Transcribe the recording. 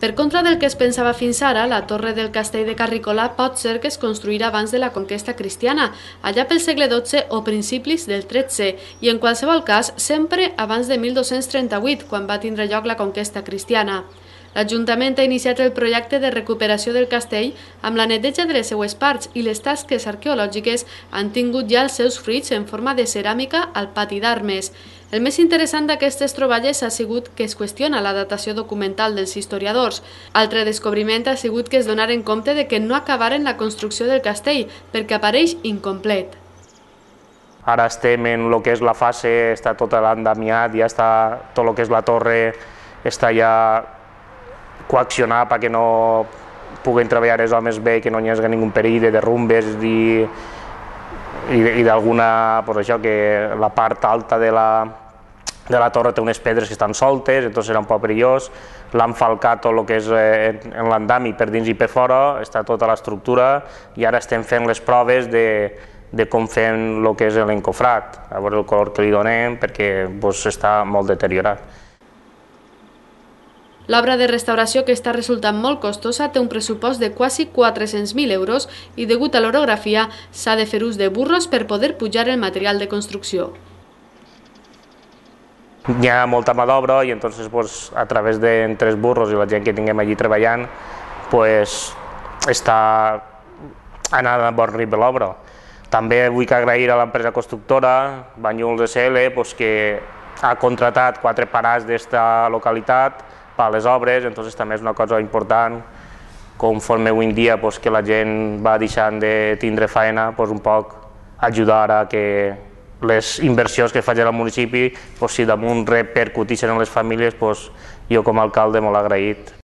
Per contra del que es pensava fins ara, la torre del castell de Carrícola pot ser que es construirà abans de la conquesta cristiana, allà pel segle XII o principis del XIII, i en qualsevol cas sempre abans de 1238, quan va tindre lloc la conquesta cristiana. L'Ajuntament ha iniciat el projecte de recuperació del castell amb la neteja de les seues parts i les tasques arqueològiques han tingut ja els seus fruits en forma de ceràmica al pati d'armes. El més interessant d'aquestes troballes ha sigut que es qüestiona la datació documental dels historiadors. Altre descobriment ha sigut que es donaren compte de que no acabaren la construcció del castell perquè apareix incomplet. Ara estem en el que és la fase, està tot l'endamiat, ja està tot el que és la torre, està ja coaccionar perquè no puguin treballar els homes bé, que no hi hagi ningú perill de derrumbes i d'alguna, pues això, que la part alta de la torre té unes pedres que estan soltes, entonces serà un poc perillós. L'han falcat tot el que és en l'andami per dins i per fora, està tota l'estructura i ara estem fent les proves de com fem el que és l'encofrat, a veure el color que li donem perquè està molt deteriorat. L'obra de restauració, que està resultant molt costosa, té un pressupost de quasi 400.000 euros i, degut a l'orografia, s'ha de fer ús de burros per poder pujar el material de construcció. Hi ha molta mà d'obra i a través d'entre els burros i la gent que tinguem allí treballant està anant a bon ritme l'obra. També vull agrair a l'empresa constructora, Banyuls SL, que ha contratat 4 parats d'esta localitat per a les obres, també és una cosa important, conforme avui en dia que la gent va deixant de tindre feina, un poc ajudar a que les inversions que faci el municipi, si damunt repercuteixen en les famílies, jo com a alcalde molt agraït.